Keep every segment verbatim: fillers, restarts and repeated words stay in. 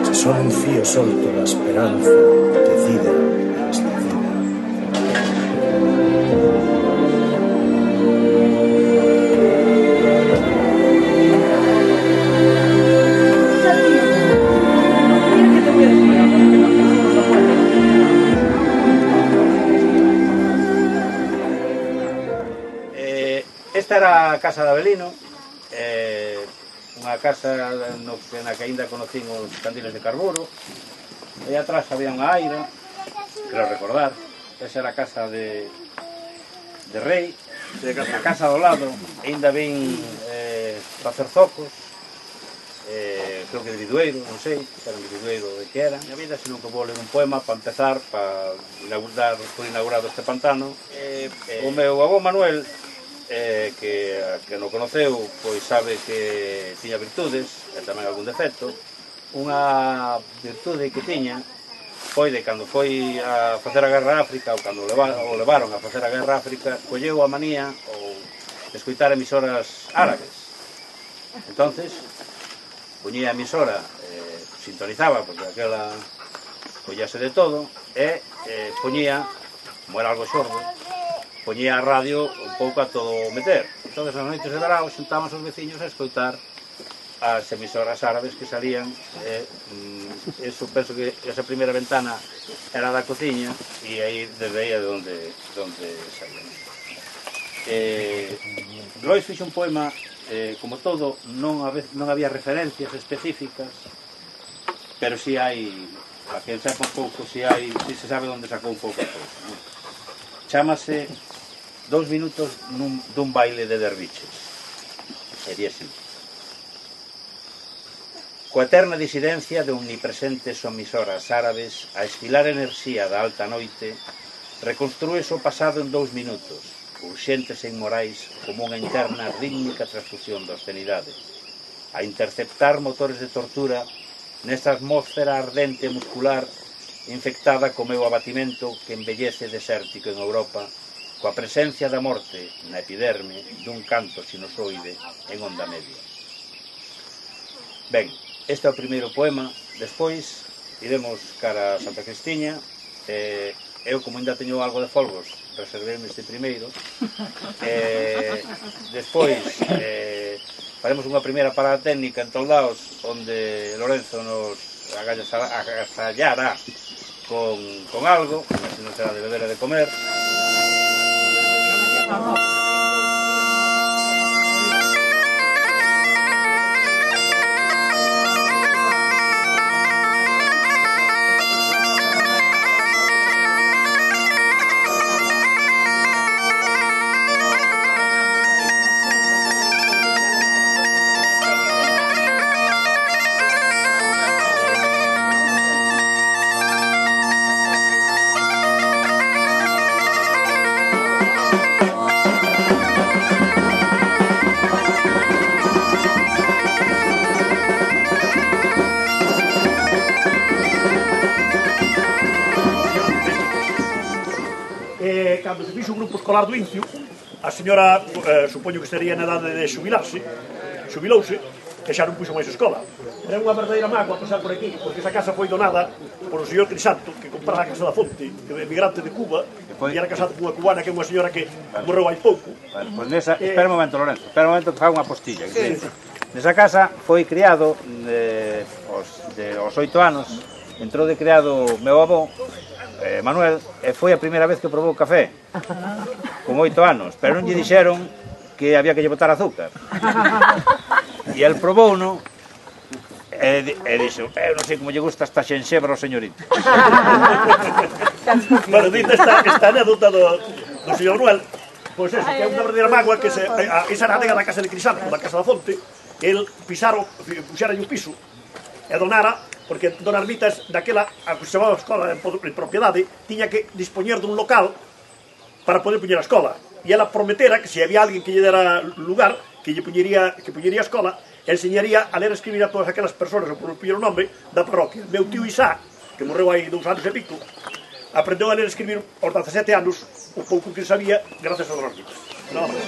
Se son un fío solto da esperanza, decida, eslecida. Esta era a casa de Avelino, eh, unha casa no, na que ainda conocín os candiles de carburo. E atrás había unha aira, creo recordar. Esa era a casa de, de Rei. Na casa do lado ainda vin eh, facer zocos, eh, creo que de Vidueiro, non sei, era de Vidueiro de que era. A vida, senón que vou ler un poema para empezar, para inaugurar, por inaugurado este pantano. Eh, eh, o meu avó Manuel, Eh, que, que non conoceu, pois sabe que tiña virtudes e tamén algún defecto. Unha virtude que tiña foi de cando foi a facer a guerra a África, ou cando o levaron a facer a guerra a África, colleu a manía ou de escoitar emisoras árabes. Entonces poñía a emisora, eh, sintonizaba, porque aquela collase de todo, e eh, poñía, como era algo xordo, poñía a radio un pouco a todo meter. Entón, nas noites de verão, xuntábamos os veciños a escoitar as emisoras árabes que salían. Eh, mm, eso, penso que esa primeira ventana era da cociña, e aí, desde aí, é de onde, de onde salían. Eh, Lois fixo un poema, eh, como todo, non, non había referencias específicas, pero si hai, para que sepa un pouco, si hai, si se sabe onde sacou un pouco a cousa, ¿no? Chámase Dous minutos nun, dun baile de derviches. Sería así. Coa eterna disidencia de omnipresentes omisoras árabes, a esfilar enerxía da alta noite, reconstrúes o pasado en dous minutos, urxentes e inmorais como unha interna rítmica transfusión da obscenidade, a interceptar motores de tortura nesta atmósfera ardente e muscular infectada co meu abatimento que embellece desértico en Europa, coa presencia da morte na epiderme dun canto sinusoide en onda media. Ben, este é o primeiro poema. Despois iremos cara a Santa Cristiña. eh, eu, como ainda teño algo de folgos, reservéme este primeiro. eh, despois eh, faremos unha primeira parada técnica en Toldaos, onde Lorenzo nos agasallará con, con algo, así non será de beber e de comer. Cando se fixo o grupo escolar do Incio, a señora, eh, supoño que estaría na edade de xubilarse, xubilouse, e xa non puxo máis escola. Era unha verdadeira mágoa pasar por aquí, porque esa casa foi donada por o señor Crisanto, que comprara a casa da Fonte, que é emigrante de Cuba, e era casado con unha cubana, que é unha señora que morreu hai pouco. Pois nesa, espera un momento, Lorenzo, espera un momento que faga unha postilla. Nesa casa foi criado aos oito anos, entrou de criado meu avó, Eh, Manuel, e foi a primeira vez que probou café con oito anos, pero non lle dixeron que había que lle botar azúcar, e el probou no e, e dixo, eu non sei como lle gusta esta xenxebra ao señorito. Bueno, dita esta, esta anécdota do, do señor Manuel, pois eso, que é unha verdadeira mágoa, que se, a, esa era a nega da casa de Crisanto, da casa da Fonte, el pisaron, puxera un piso e donara, porque Don Armitas, daquela, a que se chamaba a escola en propiedade, tiña que dispoñer dun local para poder puñer a escola. E ela prometera que se había alguén que lle dera lugar, que lle puñería, que puñería a escola, enseñaría a ler e escribir a todas aquelas persoas, o por o nome, da parroquia. Meu tío Isá, que morreu hai dous anos e pico, aprendeu a ler e escribir aos dezasete anos, o pouco que sabía, gracias a Don Armitas. Nada máis.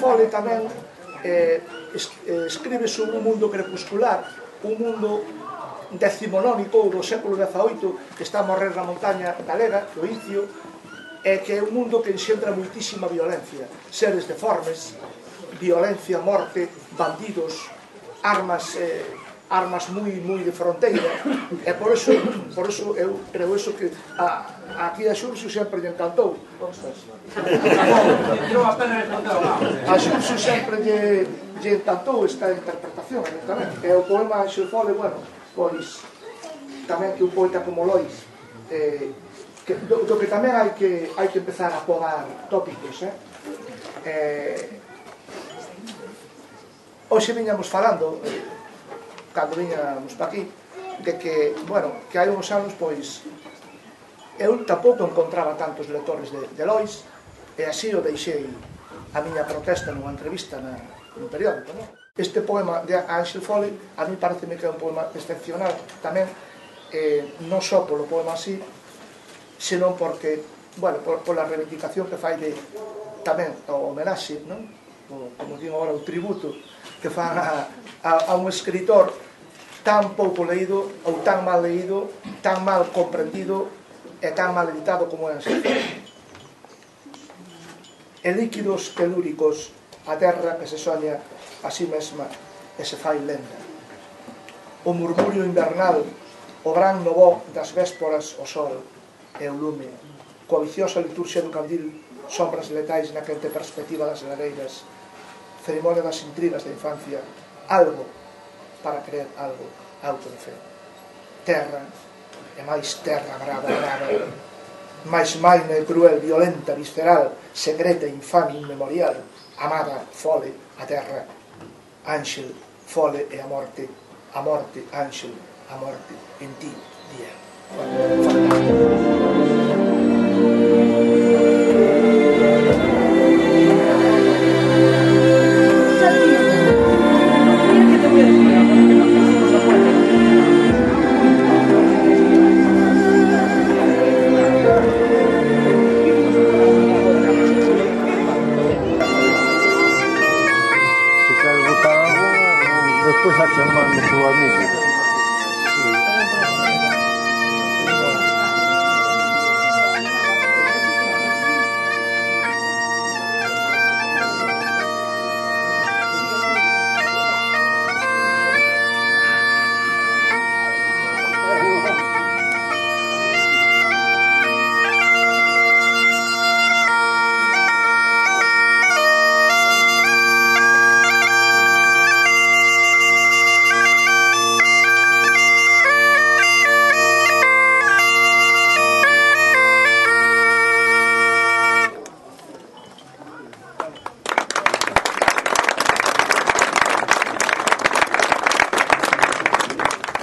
Fole tamén escribe sobre un mundo crepuscular, un mundo decimonónico do século dezaoito que está a morrer na montaña galega, do Incio, e que é un mundo que enxentra moitísima violencia, seres deformes, violencia, morte, bandidos, armas eh, armas moi moi de fronteira, e por eso, por eso eu creo eso que a, aquí a Xurxo sempre lle encantou. A Xurxo sempre lle, lle encantou esta interpretación, tamén. E o poema Ángel Fole, bueno, pois tamén que un poeta como Lois, eh, que, do, do que tamén hai que hai que empezar a podar tópicos, eh? eh hoxe viñamos falando, eh, cando viñamos pa aquí, de que, bueno, que hai uns anos, pois, eu tampouco encontraba tantos lectores de, de Lois, e así o deixei a miña protesta nunha entrevista na, nun periódico, non? Este poema de Ángel Fole, a mí pareceme que é un poema excepcional tamén, eh, non só polo poema así, senón porque, bueno, por, pola reivindicación que fai de, tamén, o homenaxe, non? O, como digo agora, o tributo que fan a, a, a un escritor tan pouco leído ou tan mal leído, tan mal comprendido e tan mal editado como é Ángel Fole. E líquidos telúricos, a terra que se soña a sí mesma e se fai lenda. O murmurio invernal, o gran novó das vésporas, o sol e o lume, coa viciosa liturxia do candil, sombras letais na quente perspectiva das lareiras, ceremonia das intrigas da infancia, algo para creer algo, auto de fe. Terra, e máis terra brava, brava, máis maina e cruel, violenta, visceral, secreta, infame, inmemorial, amada, Fole, a terra, Ángel, Fole e a morte, a morte, Ángel, a morte, en ti, día. Fantástico. Despois a chamando o amigo.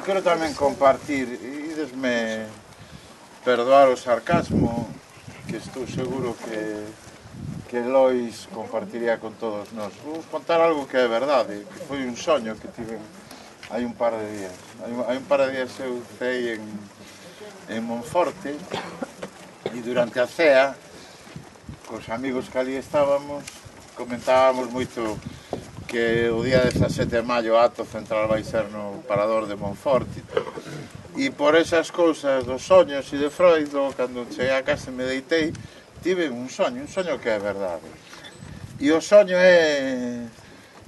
Quero tamén compartir, e desme perdoar o sarcasmo, que estou seguro que, que Lois compartiría con todos nós. Vou contar algo que é verdade, que foi un soño que tive hai un par de días. Hai un, hai un par de días eu cei en, en Monforte, e durante a cea, cos amigos que ali estábamos, comentábamos moito que o día dezasete de maio o acto central vai ser no Parador de Monforte. E por esas cousas dos soños e de Freud, cando cheguei a casa e me deitei, tive un soño, un soño que é verdade. E o soño é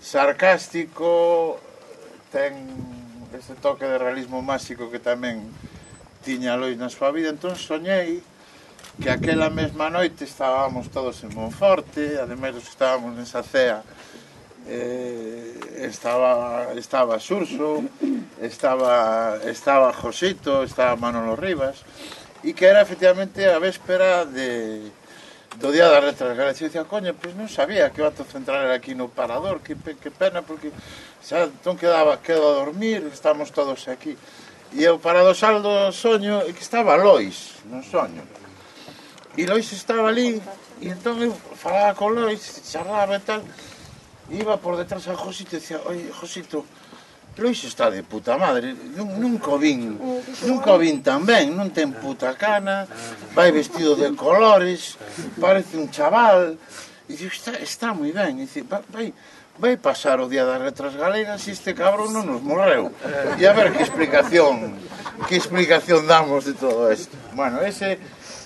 sarcástico, ten ese toque de realismo máxico que tamén tiña Lois na súa vida. Entón soñei que aquela mesma noite estábamos todos en Monforte, ademais dos que estábamos nesa cea, Eh, estaba estaba Xurxo, estaba estaba Josito, estaba Manolo Rivas, e que era efectivamente a véspera de do Día das Letras Galegas. E dicía, coño, pois non sabía que o acto central era aquí no Parador, que, que pena, porque xa entón quedaba, quedo a dormir, estamos todos aquí. E o paradosal do soño é que estaba Lois no soño, e Lois estaba ali, e entón eu falaba con Lois, charlaba e tal. Iba por detrás a Josito e dicía, oi, Josito, Lois está de puta madre, nunca o vin, nunca o vin tan ben, non ten puta cana, vai vestido de colores, parece un chaval, E digo, está, está moi ben, e dice, vai, vai pasar o día das letras galegas e este cabrón non nos morreu. E a ver que explicación, que explicación damos de todo isto. Bueno, ese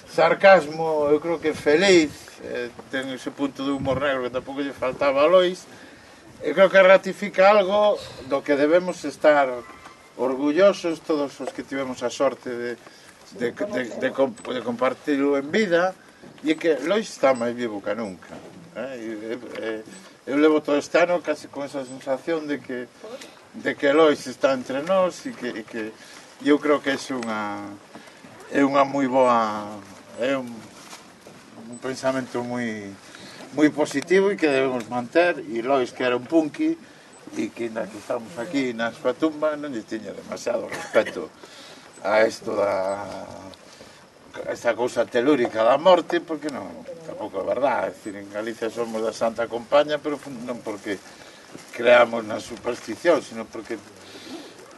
sarcasmo, eu creo que feliz, eh, ten ese punto de humor negro que tampouco lle faltaba a Lois, eu creo que ratifica algo do que debemos estar orgullosos todos os que tivemos a sorte de, de, de, de, de compartirlo en vida, e que Lois está máis vivo que nunca. Eh, eh, eu levo todo este ano casi con esa sensación de que de que Lois está entre nós e que, e que eu creo que é unha é unha moi boa é un, un pensamento moi moi positivo e que debemos manter, e Lois que era un punky e que na que estamos aquí na súa tumba non lle tiña demasiado respeto a isto da esta cousa telúrica da morte, porque non, tampouco é verdade. É dicir, en Galicia somos da Santa Compaña, pero non porque creamos na superstición, sino porque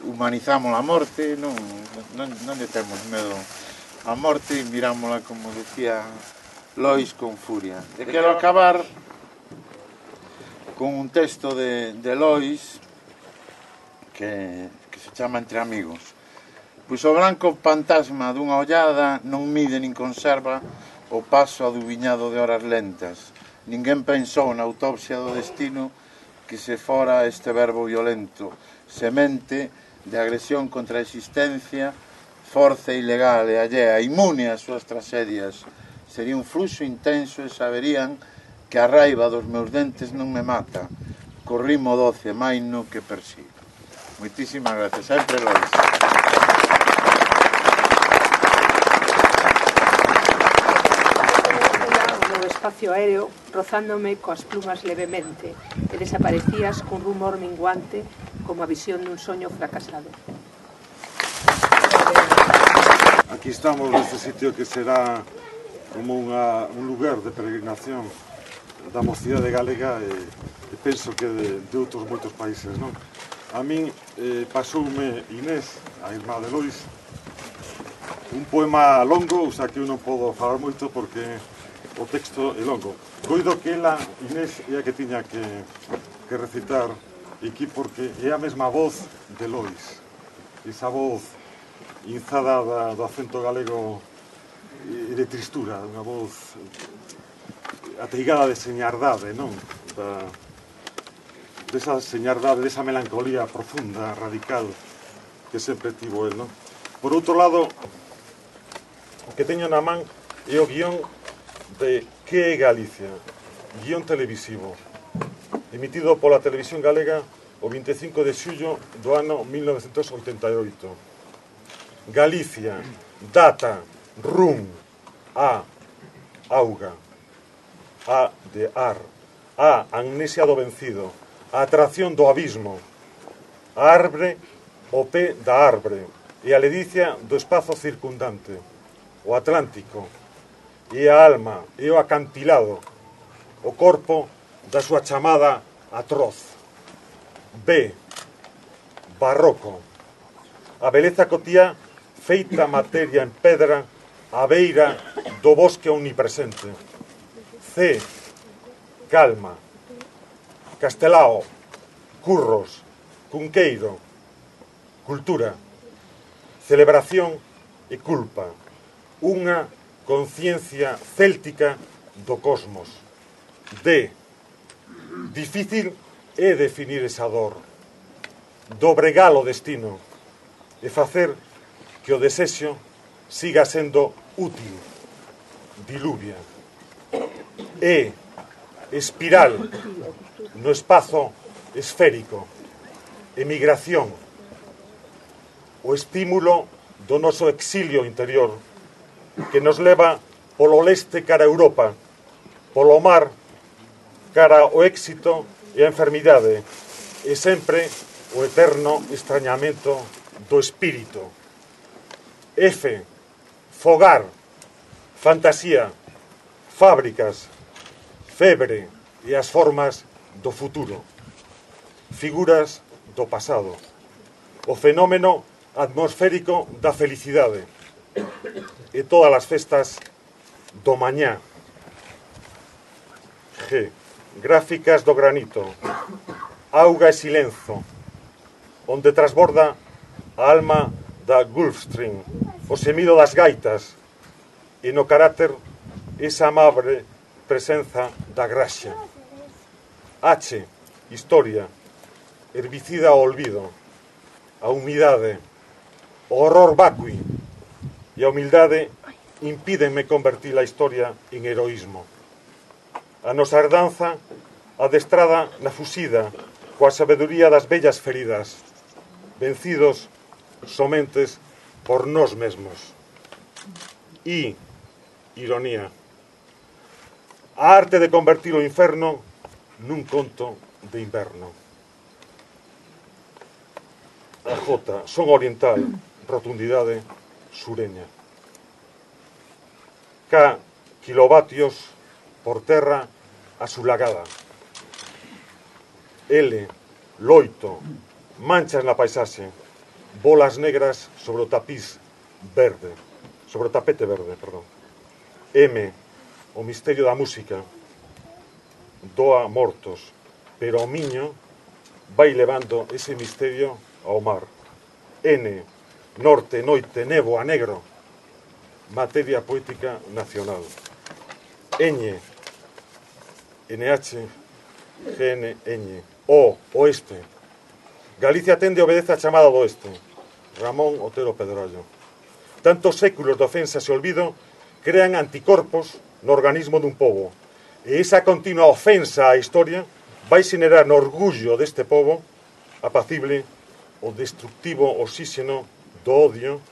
humanizamos a morte, non, non, non lle temos medo a morte e mirámola, como decía Lois, con furia. E quero acabar con un texto de, de Lois que, que se chama Entre Amigos. Pois o branco fantasma dunha ollada non mide nin conserva o paso adubiñado de horas lentas. Ninguén pensou na autopsia do destino que se fora este verbo violento, semente de agresión contra a existencia, forza ilegal e allea, inmune ás súas tragedias. Sería un fluxo intenso e saberían que a raiva dos meus dentes non me mata, co ritmo doce maino que persigo. Moitísimas gracias, sempre Lois. Espacio aéreo, rozándome coas plumas levemente, e desaparecías cun rumor minguante como a visión dun soño fracasado. Aquí estamos neste sitio que será como unha, un lugar de peregrinación da mocidade galega e, e penso que de, de outros moitos países, non? A min eh, pasoume Inés, a irmá de Lois, un poema longo, o sea que eu non podo falar moito porque o texto é longo. Coido que ela, Inés, é a que tiña que, que recitar aquí porque é a mesma voz de Lois. Esa voz inzada da, do acento galego e de tristura, unha voz ateigada de señardade, non? Da, desa señardade, desa melancolía profunda, radical, que sempre tivo el, non? Por outro lado, o que teño na man é o guión de Que é Galicia, guión televisivo, emitido pola televisión galega o vinte e cinco de xullo do ano mil novecentos oitenta e oito. Galicia, data, rum, a, auga, a de ar, a, amnesia do vencido, a atracción do abismo, a arbre, o pé da arbre, e a ledicia do espazo circundante, o Atlántico, e a alma, e o acantilado, o corpo da súa chamada atroz. B. Barroco. A beleza cotía feita materia en pedra a beira do bosque omnipresente. C. Calma. Castelao. Curros. Cunqueiro. Cultura. Celebración e culpa. Unha conciencia céltica do cosmos. D. Difícil é definir esa dor, dobregar o destino e facer que o desexo siga sendo útil. Diluvia. E. Espiral no espazo esférico. Emigración. O estímulo do noso exilio interior que nos leva polo leste cara a Europa, polo mar cara ao éxito e a enfermidade, e sempre o eterno extrañamento do espírito. F. Fogar, fantasía, fábricas, febre e as formas do futuro, figuras do pasado, o fenómeno atmosférico da felicidade e todas as festas do mañá. G. Gráficas do granito. Auga e silenzo, onde transborda a alma da Gulfstream, o semido das gaitas, e no carácter esa amable presenza da graxa. H. Historia, herbicida ao olvido, a humidade, o horror vacui e a humildade impídenme convertir a historia en heroísmo. A nosa herdanza adestrada na fusida coa sabedoría das bellas feridas, vencidos somentes por nós mesmos. I. Ironía. A arte de convertir o inferno nun conto de inverno. A J. Son oriental, rotundidade sureña. K. Kilovatios por terra asulagada. L. Loito, manchas na paisaxe, bolas negras sobre o tapiz verde, sobre o tapete verde, perdón. M. O misterio da música, doa mortos, pero o miño vai levando ese misterio ao mar. N. Norte, noite, nevo, a negro, materia poética nacional. Ñ. N H G N Ñ. O. Oeste. Galicia tende e obedece a chamada do oeste. Ramón Otero Pedrallo. Tantos séculos de ofensas e olvido crean anticorpos no organismo dun pobo. E esa continua ofensa á historia vai xenerar no orgullo deste pobo apacible o destructivo oxígeno do odio,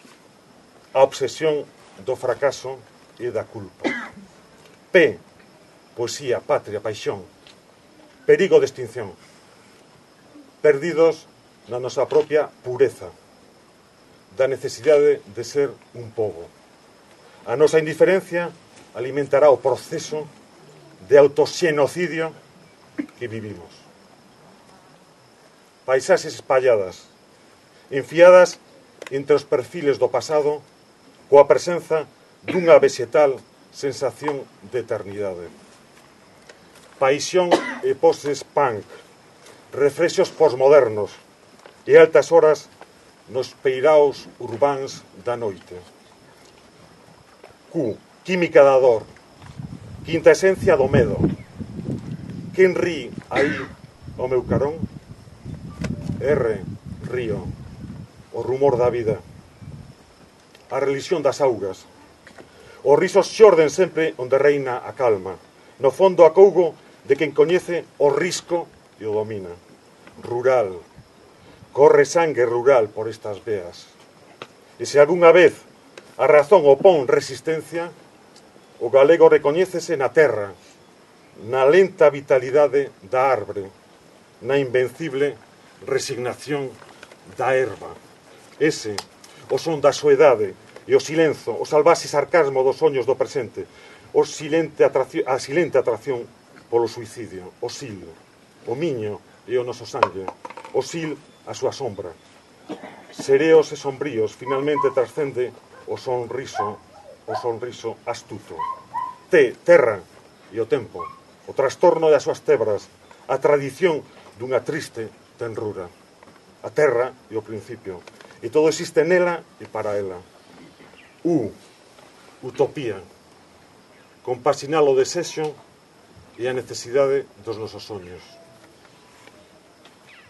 a obsesión do fracaso e da culpa. P. Poesía, patria, paixón. Perigo de extinción. Perdidos na nosa propia pureza, da necesidade de ser un pobo. A nosa indiferencia alimentará o proceso de autoxenocidio que vivimos. Paisaxes espalladas, enfiadas entre os perfiles do pasado, coa presenza dunha vegetal sensación de eternidade. Paixón e poses punk, reflexos posmodernos e altas horas nos peiraos urbáns da noite. Q. Química da dor, quinta esencia do medo. Quen rí aí o meu carón? R. Río, o rumor da vida. A religión das augas. Os risos xorden sempre onde reina a calma. No fondo acougo de quen coñece o risco e o domina. Rural. Corre sangue rural por estas veas. E se algunha vez a razón opón resistencia, o galego recoñécese na terra, na lenta vitalidade da arbre, na invencible resignación da erva. Ese, o son da soedade e o silenzo, o salvaxe sarcasmo dos soños do presente, o silente atracción, a silente atracción polo suicidio, o sil, o miño e o noso sangue, o sil a súa sombra. Sereos e sombríos, finalmente trascende o sonriso, o sonriso astuto. T, terra e o tempo, o trastorno das súas tebras, a tradición dunha triste tenrura. A terra e o principio, e todo existe nela e para ela. U, utopía, compaxinar o desexo e a necesidade dos nosos soños.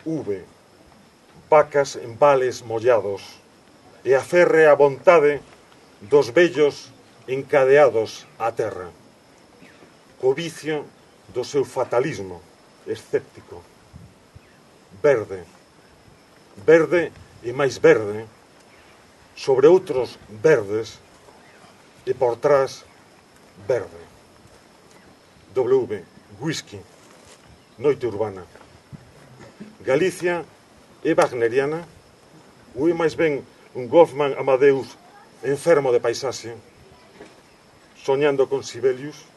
V, vacas en vales mollados, e a férrea vontade dos vellos encadeados á terra, co vicio do seu fatalismo escéptico. Verde, verde e máis verde, sobre outros verdes, e por trás verde. W, whisky, noite urbana. Galicia é wagneriana, ou é máis ben un Wolfgang Amadeus enfermo de paisaxe, soñando con Sibelius.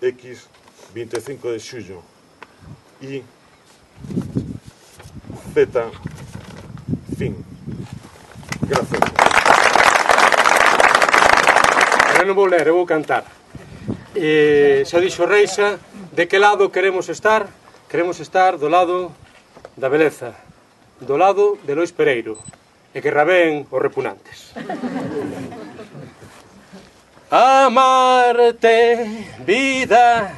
X, vinte e cinco de xullo. Y Z, fin. Gracias. Eu non vou ler, eu vou cantar. eh, xa dixo Reixa, de que lado queremos estar? Queremos estar do lado da beleza, do lado de Lois Pereiro, e que rabeen os repugnantes. Amarte, vida,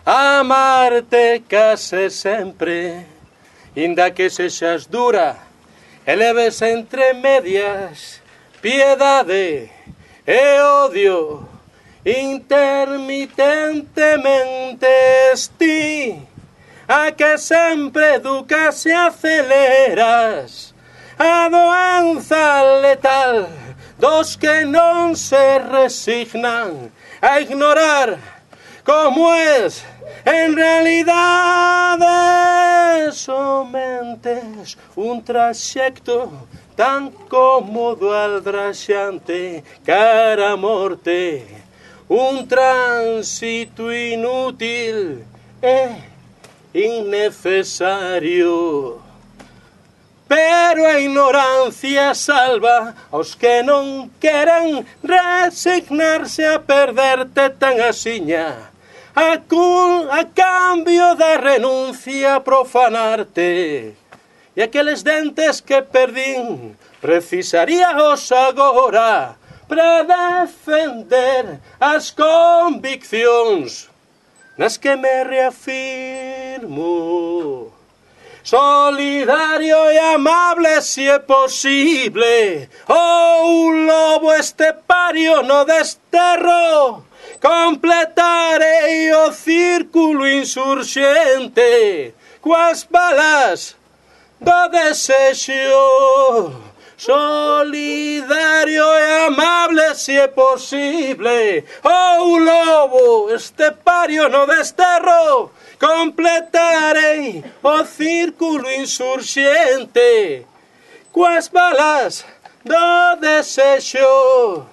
amarte case sempre, inda que sexas dura, e leves entre medias piedade e odio, intermitentemente esti, a que sempre educas e aceleras a doenza letal dos que non se resignan a ignorar como es en realidade. Somentes un traxecto tan cómodo aldraxante cara a morte, un tránsito inútil e innecesario. Pero a ignorancia salva aos que non queren resignarse a perderte tan asiña, a, cul, a cambio da renuncia a profanarte. E aqueles dentes que perdín precisaríaos agora para defender as conviccións nas que me reafirmo. Solidario e amable si é posible, ou un lobo estepario no desterro, completarei o círculo insurxente coas balas do desexo. Solidario e amable si é posible, ou un lobo estepario no desterro, completarei o círculo insurxente coas balas do desexo.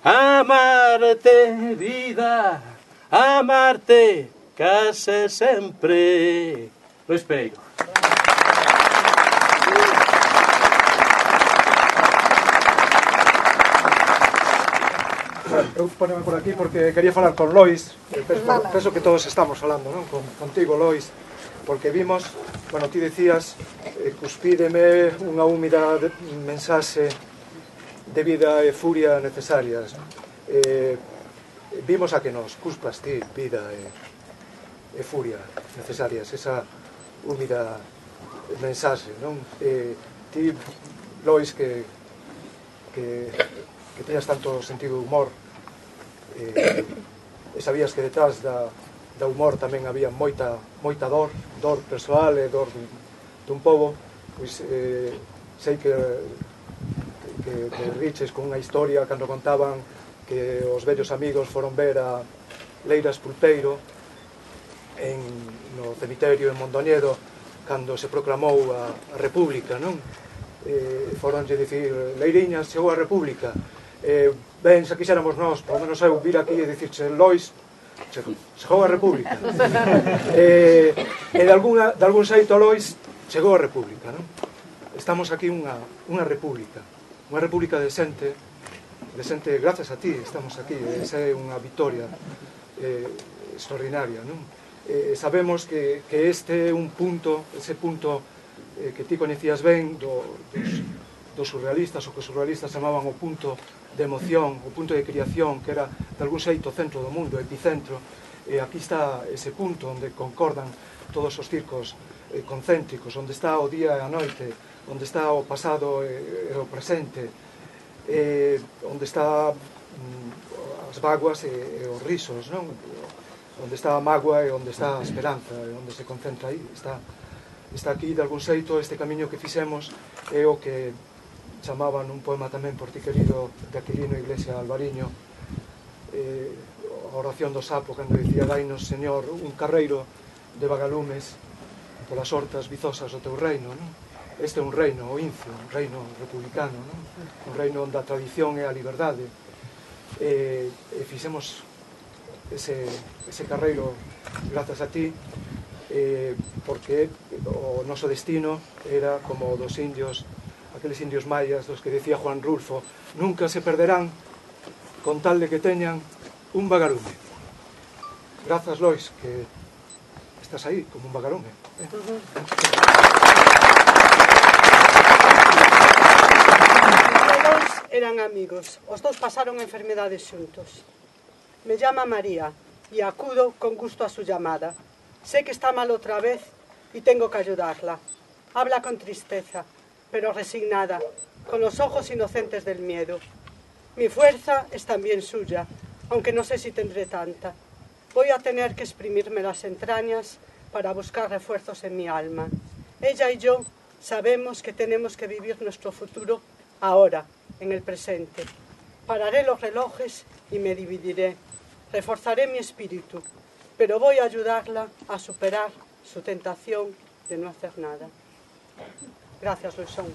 Amarte, vida, amarte case sempre. Lois Pereiro. Eu poneme por aquí porque quería falar con Lois. Penso, penso que todos estamos falando, non? Con, contigo, Lois, porque vimos, bueno, ti decías, eh, cuspídeme unha húmida de, mensaxe de vida e furia necesarias. Eh, vimos a que nos cuspas ti vida e, e furia necesarias, esa húmida mensaxe, non? Eh, ti, Lois, que, que, que teñas tanto sentido de humor, eh, e sabías que detrás da, da humor tamén había moita, moita dor, dor persoal e dor dun, dun pobo, pois eh, sei que, que, que riches con unha historia cando contaban que os vellos amigos foron ver a Leiras Pulpeiro en, no cemiterio en Mondoñedo cando se proclamou a, a República, non? Eh, foronlle dicir, Leiriñas, chegou a República. Eh, ben, se quixéramos nós, polo menos eu, vir aquí e dicirche, Lois, chegou a República. eh, e de, alguna, de algún xeito, Lois, chegou a República, non? Estamos aquí unha, unha república, unha república decente, decente grazas a ti, estamos aquí, esa é unha victoria eh, extraordinaria, non? Eh, sabemos que, que este é un punto, ese punto eh, que ti coñecías ben do, dos, dos surrealistas, o que os surrealistas chamaban o punto de emoción, o punto de criación, que era de algún xeito o centro do mundo, o epicentro, e aquí está ese punto onde concordan todos os circos eh, concéntricos, onde está o día e a noite, onde está o pasado e, e o presente, eh, onde está mm, as vaguas e, e os risos, non? Onde está a mágoa e onde está a esperanza, e onde se concentra aí, está, está aquí de algún xeito este camiño que fixemos, é o que chamaban un poema tamén por ti querido de Aquilino Iglesia Alvariño, eh, a oración do sapo, cando dicía, dainos, Señor, un carreiro de vagalumes polas hortas vizosas do teu reino, non? Este é un reino, o Incio, un reino republicano, non? Un reino onde a tradición é a liberdade, e, e fixemos ese, ese carreiro grazas a ti, eh, porque o noso destino era como o dos indios, aqueles indios mayas dos que decía Juan Rulfo, nunca se perderán con tal de que teñan un vagalume. Grazas, Lois, que estás aí como un vagarón, eh? Lois eran amigos, os dous pasaron enfermedades xuntos. Me llama María y acudo con gusto a su llamada. Sé que está mal otra vez y tengo que ayudarla. Habla con tristeza, pero resignada, con los ojos inocentes del miedo. Mi fuerza es también suya, aunque no sé si tendré tanta. Voy a tener que exprimirme las entrañas para buscar refuerzos en mi alma. Ella y yo sabemos que tenemos que vivir nuestro futuro ahora, en el presente. Pararé los relojes y me dividiré. Reforzaré mi espíritu, pero voy a ayudarla a superar su tentación de no hacer nada. Gracias, Luisón.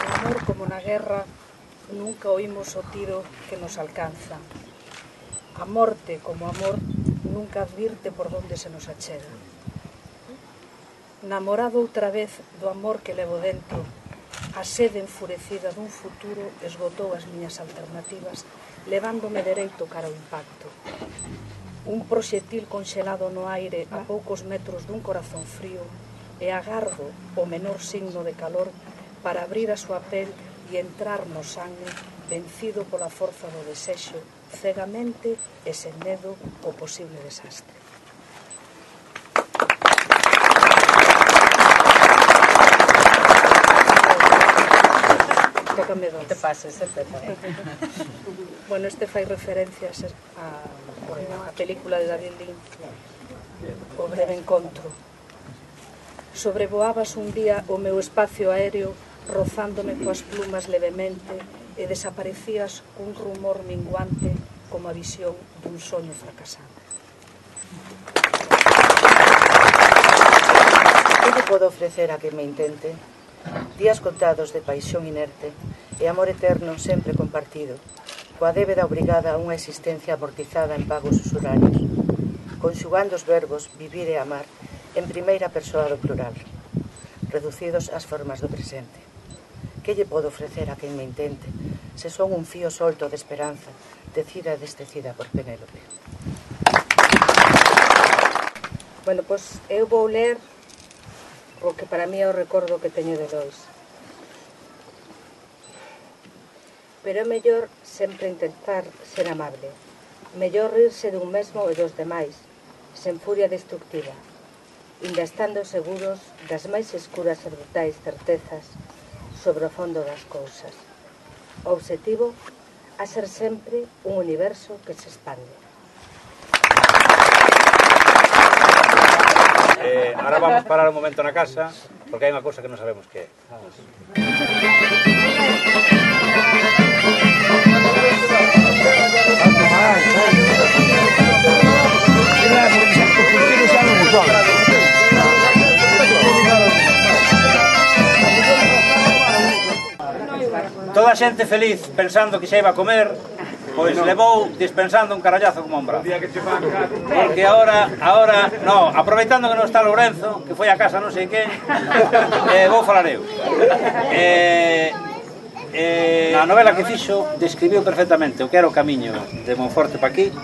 No amor como na guerra, nunca oímos o tiro que nos alcanza. A morte como amor nunca advirte por donde se nos achega. Namorado outra vez do amor que levo dentro, a sede enfurecida dun futuro esgotou as miñas alternativas, levándome dereito cara ao impacto. Un proxetil conxelado no aire a poucos metros dun corazón frío e agardo o menor signo de calor para abrir a súa pel e entrar no sangue, vencido pola forza do desexo, cegamente e sen medo o posible desastre. Tócame dos. Te pases, eh, Pepe. Bueno, este fai referencias a, a película de David Lynch, O breve encontro. Sobrevoabas un día o meu espacio aéreo rozándome coas plumas levemente e desaparecías cun rumor minguante como a visión dun soño fracasado. Que te podo ofrecer a que me intente? Días contados de paixón inerte e amor eterno sempre compartido, coa débeda obrigada a unha existencia amortizada en pagos usurarios, conxugando os verbos vivir e amar en primeira persoa do plural, reducidos ás formas do presente. Que lle podo ofrecer a quen me intente, se son un fío solto de esperanza, tecida e destecida por Penélope? Bueno, pois eu vou ler o que para mí é o recordo que teño de Lois. Pero é mellor sempre intentar ser amable. Mellor rirse dun mesmo e dos demais, sen furia destructiva, inda estando seguros das máis escuras e brutais certezas sobre o fondo das cousas. O obxectivo a ser sempre un universo que se expande. Eh, ahora vamos a parar un momento na casa, porque hai unha cousa que non sabemos que é. Toda a xente feliz pensando que xa iba a comer, pois levou dispensando un carallazo como un bravo. Porque ahora, ahora, no, aproveitando que non está Lourenzo, que foi a casa non sei quen, eh, vou falar eu. Eh, eh, na novela que fixo, describiu perfectamente o que era o camiño de Monforte pa aquí,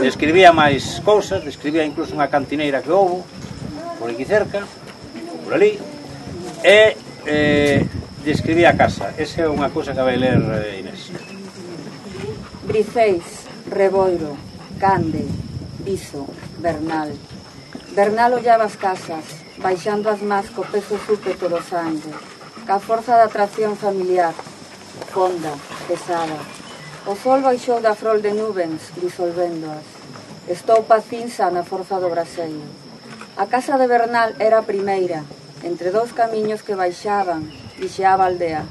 describía máis cousas, describía incluso unha cantineira que houbo, por aquí cerca, por ali, e eh, describía a casa. Esa é unha cousa que vai ler eh, Inés. Briceis, Reboiro, Cande, Viso, Bernal. Bernal ollaba as casas, baixando as más co peso súpeto do sangue, ca forza da atracción familiar, fonda, pesada. O sol baixou da frol de nubens, disolvéndoas. Estou pa cinza na forza do braseiro. A casa de Bernal era a primeira, entre dous camiños que baixaban, vixeaba a aldea.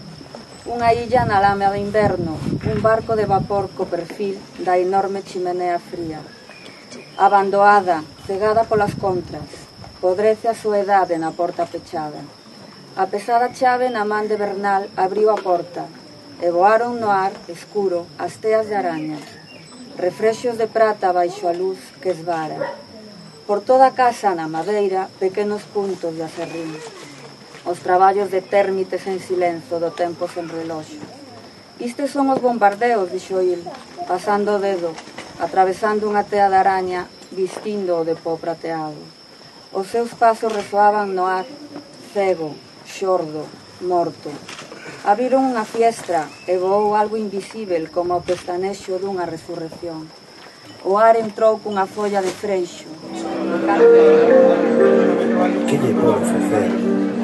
Unha illa na lama de inverno, un barco de vapor co perfil da enorme chimenea fría. Abandoada, cegada polas contras, podrece a soedade na porta pechada. A pesada chave na man de Bernal abriu a porta e voaron no ar, escuro, as teas de arañas, refrexos de prata baixo a luz que esvara. Por toda a casa na madeira, pequenos puntos de acerrín. Os traballos de térmites en silenzo do tempo sen reloxo. Istes son os bombardeos, dixo il, pasando o dedo atravesando unha tea de araña, vistindo o de pó prateado. Os seus pasos resoaban no ar, cego, xordo, morto. Abriron unha fiestra e voou algo invisível como o pestanexo dunha resurrección. O ar entrou cunha folla de freixo. Que lle pode facer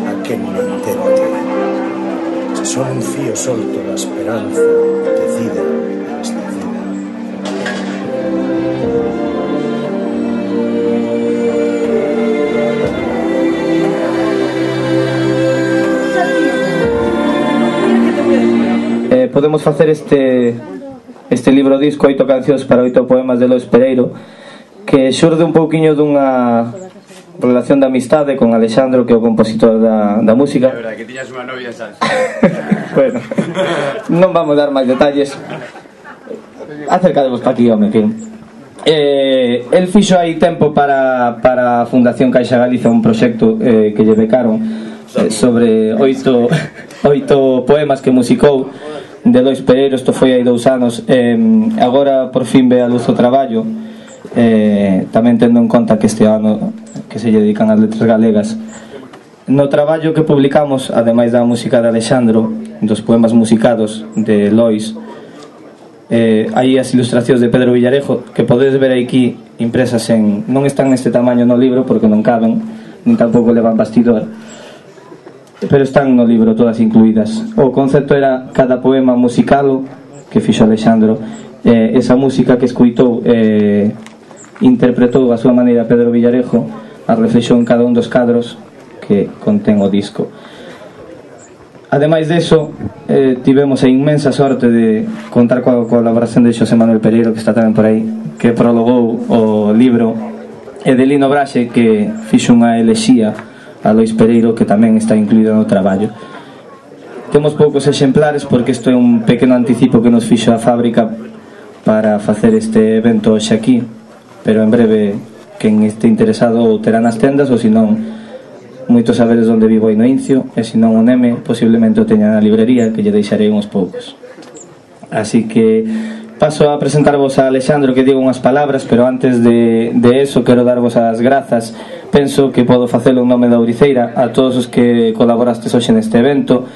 a quen me intente? Se son un fío solto da esperanza, tecida e escecida. Eh, podemos facer este este libro disco, oito cancións para oito poemas de Lois Pereiro, que xurde un pouquiño dunha relación de amistade con Alexandro, que é o compositor da, da música. É verdade, que tiñas unha novia en salsa. Bueno, non vamos dar máis detalles. Acercadevos pa aquí, home, que eh, el fixo aí tempo para, para a Fundación Caixa Galiza un proxecto eh, que lle becaron eh, sobre oito, oito poemas que musicou de Lois Pereiro. Isto foi hai dous anos. eh, agora por fin ve a luz o traballo, eh, tamén tendo en conta que este ano que se lle dedican as letras galegas. No traballo que publicamos, ademais da música de Alexandro, dos poemas musicados de Lois, eh, hai as ilustracións de Pedro Villarejo, que podedes ver aquí impresas en... non están neste tamaño no libro porque non caben, nin tampouco levan bastidor, pero están no libro todas incluídas. O concepto era cada poema musicalo que fixo Alexandro, eh, esa música que escuitou, eh, interpretou a súa maneira Pedro Villarejo, a reflexión en cada un dos cadros que contén o disco. Ademais deso, eh, tivemos a inmensa sorte de contar coa colaboración de Xosé Manuel Pereiro, que está tamén por aí, que prologou o libro, e de Lino Braxe, que fixo unha elexía a Lois Pereiro, que tamén está incluído no traballo. Temos poucos exemplares porque isto é un pequeno anticipo que nos fixo a fábrica para facer este evento hoxe aquí, pero en breve quen este interesado ou terá nas tendas, ou senón moitos saberes onde vivo aí no Incio, e senón o Neme posiblemente o teña na librería, que lle deixarei uns poucos. Así que paso a presentarvos a Alexandro, que digo unhas palabras, pero antes de, de eso quero darvos as grazas. Penso que podo facelo en nome da Ouriceira a todos os que colaborastes hoxe neste evento,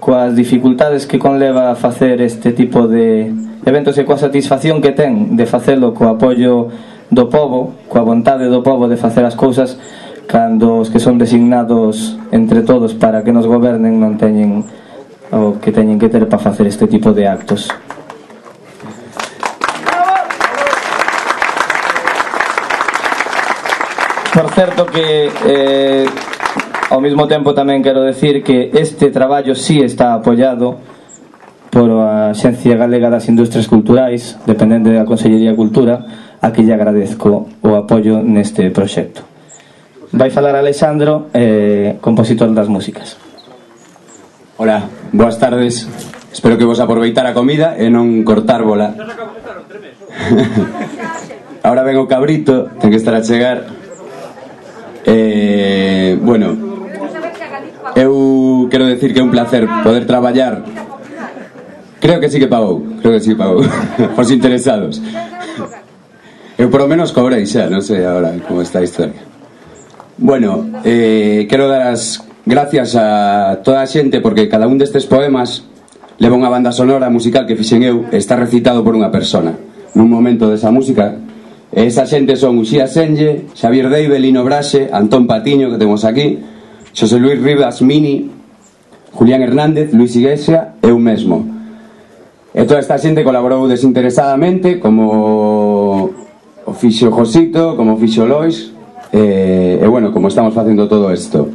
coas dificultades que conleva a facer este tipo de eventos e coa satisfacción que ten de facelo co apoio do pobo, coa vontade do pobo de facer as cousas, cando os que son designados entre todos para que nos gobernen non teñen o que teñen que ter para facer este tipo de actos. Por certo que eh, ao mesmo tempo tamén quero decir que este traballo sí está apoiado por a Axencia Galega das Industrias Culturais, dependente da Consellería de Cultura, a que lle agradezco o apoio neste proxecto. Vai falar Alexandro, eh, compositor das músicas. Hola, boas tardes. Espero que vos aproveitar a comida e non cortárvola. Ahora ven o cabrito, ten que estar a chegar. Eh, bueno, eu quero decir que é un placer poder traballar. Creo que sí que pagou, creo que sí que pagou. Os interesados. Eu por lo menos cobrei xa, non sei agora como está a historia. Bueno, eh, quero dar as gracias a toda a xente, porque cada un destes poemas leva unha banda sonora musical que fixen eu, está recitado por unha persona nun momento desa música. E esa xente son Uxía Senlle, Xavier Deive, Lino Braxe, Antón Patiño, que temos aquí, Xosé Luis Rivas Mini, Julián Hernández, Luis Iglesia e eu mesmo. E toda esta xente colaborou desinteresadamente, como o fixo Josito, como o fixo Lois, e, e bueno, como estamos facendo todo isto.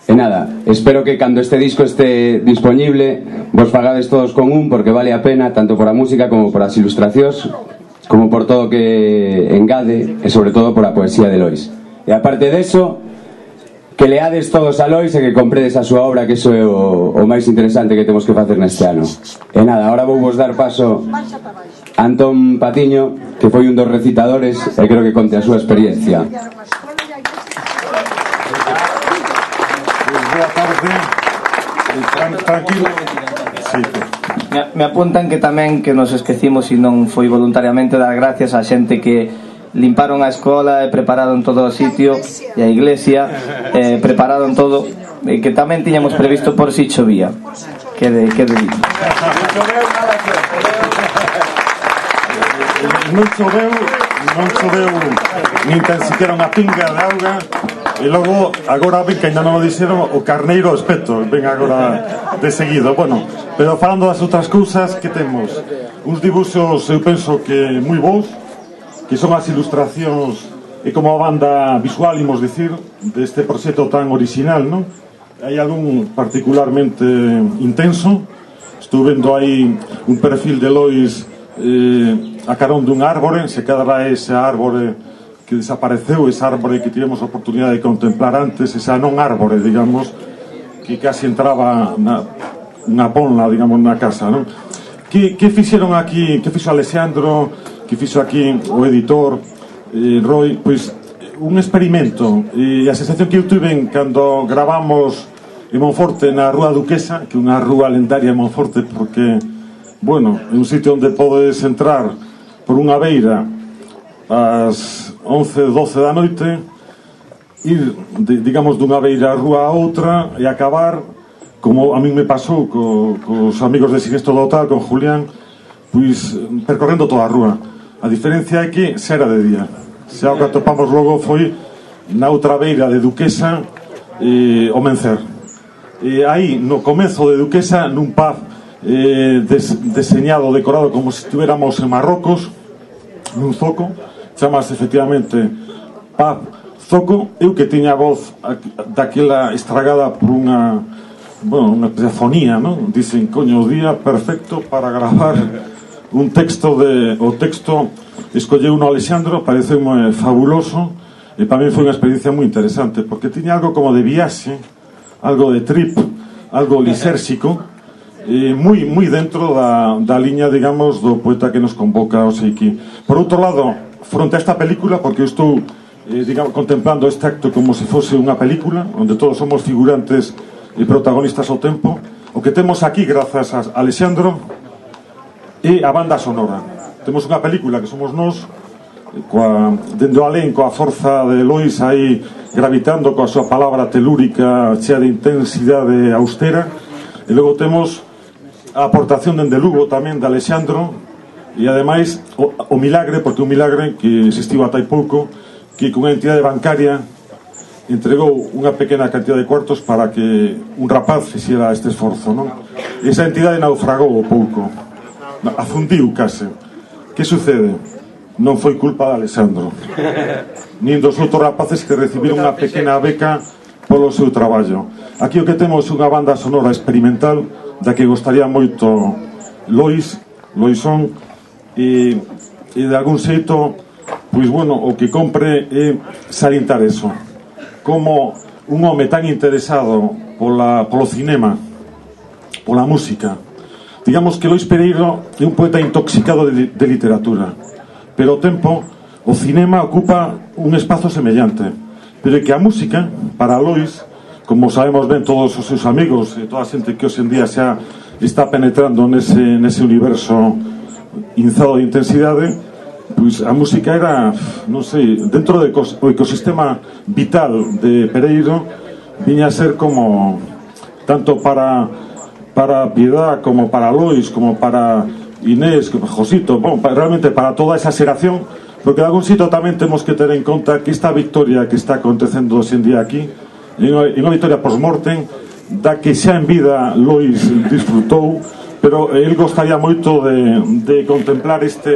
E nada, espero que cando este disco este disponible vos fagades todos con un, porque vale a pena, tanto por a música como por as ilustracións, como por todo o que engade, e sobre todo por a poesía de Lois. E aparte deso, que leades todos a Lois e que compredes a súa obra, que iso é o, o máis interesante que temos que facer neste ano. E nada, agora vou vos dar paso a Antón Patiño, que foi un dos recitadores, e creo que conte a súa experiencia. Boa tarde. Tranquilo, xeito. Me, me apuntan que tamén que nos esquecimos e non foi voluntariamente dar gracias á xente que limparon a escola e prepararon todo o sitio e a iglesia, eh, prepararon todo, e que tamén tiñamos previsto por si chovía. Quede, quede dito. Non choveu, non choveu nin tan siquiera unha pinga de auga. E logo, agora ven que ainda non o dixeron, o carneiro ao espeto, ven agora de seguido. Bueno, pero falando das outras cousas, que temos? Uns dibuxos, eu penso que moi bons, que son as ilustracións e como a banda visual, imos dicir, deste proxecto tan original, non? Hai algún particularmente intenso. Estou vendo aí un perfil de Lois eh, a carón dun árbore, se quedará ese árbore que desapareceu, ese árbore que tivemos a oportunidade de contemplar antes, esa non árbore, digamos, que casi entraba na, na ponla, digamos, na casa, non? Que, que fixeron aquí, que fixo Alexandro, que fixo aquí o editor, eh, Roy, pois un experimento, e a sensación que eu tuve cando gravamos en Monforte na Rúa Duquesa, que é unha rúa lendaria en Monforte, porque, bueno, é un sitio onde podes entrar por unha beira ás once, doce da noite, ir, de, digamos, dunha beira a rúa a outra e acabar, como a mí me pasou co, cos amigos de Sinestro do Hotel, con Julián, pois percorrendo toda a rúa. A diferencia é que xa era de día. Xa o que atopamos logo foi na outra beira de Duquesa eh, o Mencer. E aí, no comezo de Duquesa, nun pub eh, des, deseñado, decorado como se estuviéramos en Marrocos, nun zoco, chamase efectivamente Pub Zoco. Eu que tiña a voz daquela estragada por unha, bueno, unha fonía, non? Dicen, coño, o día perfecto para gravar un texto de... O texto escolleu uno Alexandro, pareceume fabuloso, e para mí foi unha experiencia moi interesante, porque tiña algo como de viaxe, algo de trip, algo lisérxico, e moi, moi dentro da, da liña, digamos, do poeta que nos convoca o Seiki. Por outro lado, fronte a esta película, porque eu estou eh, digamos, contemplando este acto como se fose unha película onde todos somos figurantes e protagonistas ao tempo, o que temos aquí grazas a Alexandro e a banda sonora. Temos unha película que somos nós coa, dendo alén coa forza de Lois aí gravitando coa súa palabra telúrica chea de intensidade austera, e logo temos a aportación dende Lugo tamén de Alexandro. E ademais o, o milagre, porque un milagre que existiu ata hai pouco, que con unha entidade bancaria entregou unha pequena cantidad de cuartos para que un rapaz fixera este esforzo, non? E esa entidade naufragou o pouco, afundiu case. Que sucede? Non foi culpa de Alexandro nin dos outros rapaces que recibiron unha pequena beca polo seu traballo. Aquí o que temos unha banda sonora experimental da que gostaría moito Lois, Loisón, e, e de algún xeito, pois bueno, o que compre é salientar eso, como un home tan interesado pola, polo cinema, pola música. Digamos que Lois Pereiro é un poeta intoxicado de, de literatura, pero ao tempo o cinema ocupa un espazo semellante, pero é que a música, para Lois, como sabemos ben todos os seus amigos e toda a xente que hoxe en día xa está penetrando nese, nese universo inzado de intensidade, pois a música era, non sei, dentro do ecosistema vital de Pereiro, viña a ser como tanto para para Piedad, como para Lois, como para Inés, como Josito, bon, para, realmente para toda esa xeración, porque de algún sitio tamén temos que ter en conta que esta victoria que está acontecendo hoxe en día aquí é unha victoria post-mortem da que xa en vida Lois disfrutou, pero el gostaría moito de, de contemplar este,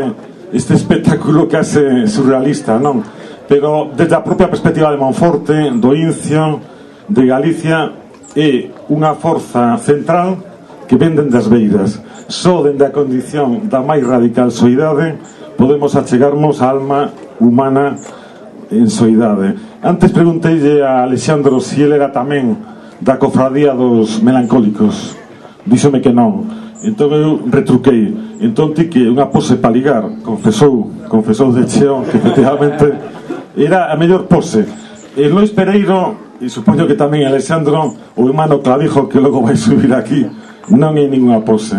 este espectáculo case surrealista, non? Pero desde a propia perspectiva de Monforte, do Incio, de Galicia, é unha forza central que ven dende as beiras. Só dende a condición da máis radical soidade podemos achegarmos a alma humana en soidade. Antes pregunteille a Alexandro se ele era tamén da cofradía dos melancólicos. Díxome que non. Entón eu retruquei. Entón ti que unha pose para ligar, confesou, confesou de cheo que efectivamente era a mellor pose. E Lois Pereiro, e supoño que tamén Alexandro, o hermano Clavijo que logo vai subir aquí, non é ninguna pose.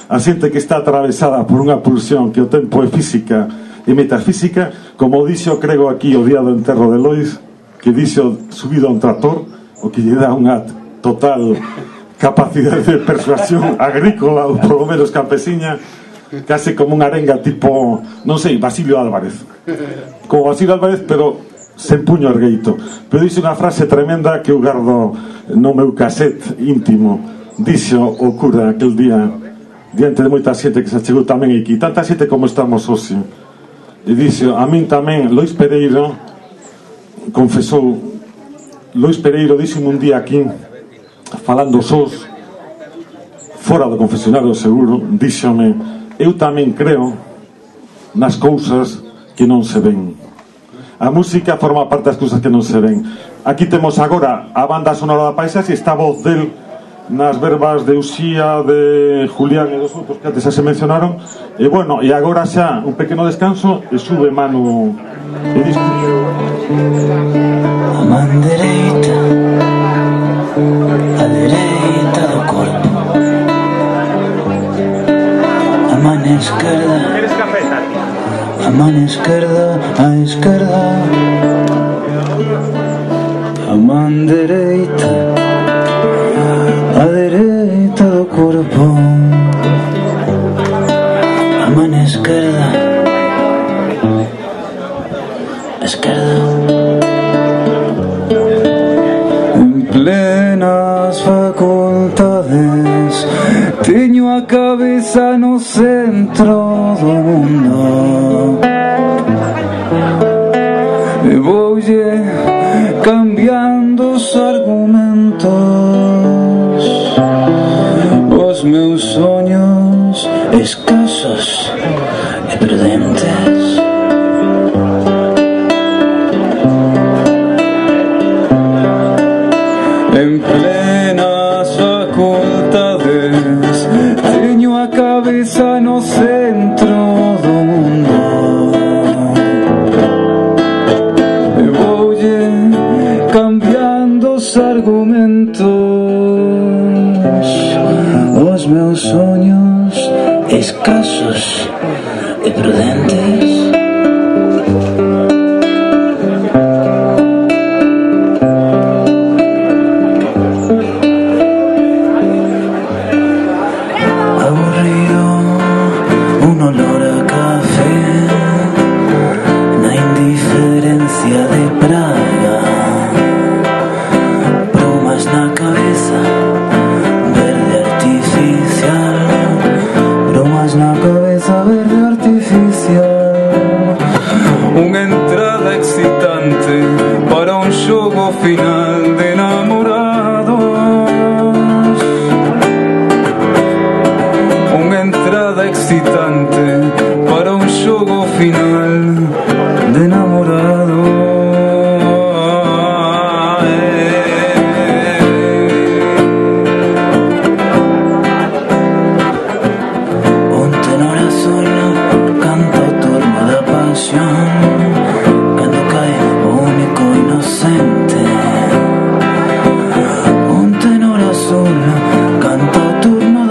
A xente que está atravesada por unha pulsión que o tempo é física e metafísica, como dixo, crego aquí o día do enterro de Lois, que dixo subido a un tractor, o que lle dá unha total capacidade de persuasión agrícola, ou polo menos campesiña, case como unha arenga tipo, non sei, Basilio Álvarez. Como Basilio Álvarez, pero sen puño ergueito. Pero dixo unha frase tremenda que eu gardo no meu cassette íntimo. Dixo o cura aquel día, diante de moita xente que se chegou tamén aquí, tanta xente como estamos hoxe. E dixo, a min tamén, Lois Pereiro confesou, Lois Pereiro dixo un día aquí, falando sós, fora do confesionario seguro, díxome, eu tamén creo nas cousas que non se ven. A música forma parte das cousas que non se ven. Aquí temos agora a banda sonora da Paisaxe, está a voz del nas verbas de Uxía, de Julián e dos outros que antes xa se mencionaron. E bueno, e agora xa un pequeno descanso e sube Manu e disco. A man dereita, a dereita do corpo, a man esquerda, a man esquerda, a esquerda, a man dereita, a dereita do corpo, a man esquerda, esquerda. En plenas facultades teño a cabeza no centro do mundo e voulle cambiando os argumentos, os meus soños escasos e prudentes. En plenas facultades teño a cabeza no centro do mundo e voulle cambiando os argumentos, os meus soños escasos e prudentes. Final de enamorados, unha entrada excitante para un xogo final de enamorados. Un tenor azul canta o turno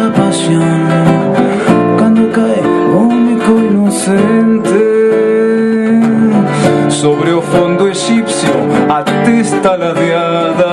da pasión cando cae o único inocente. Sobre o fondo egipcio a testa ladeada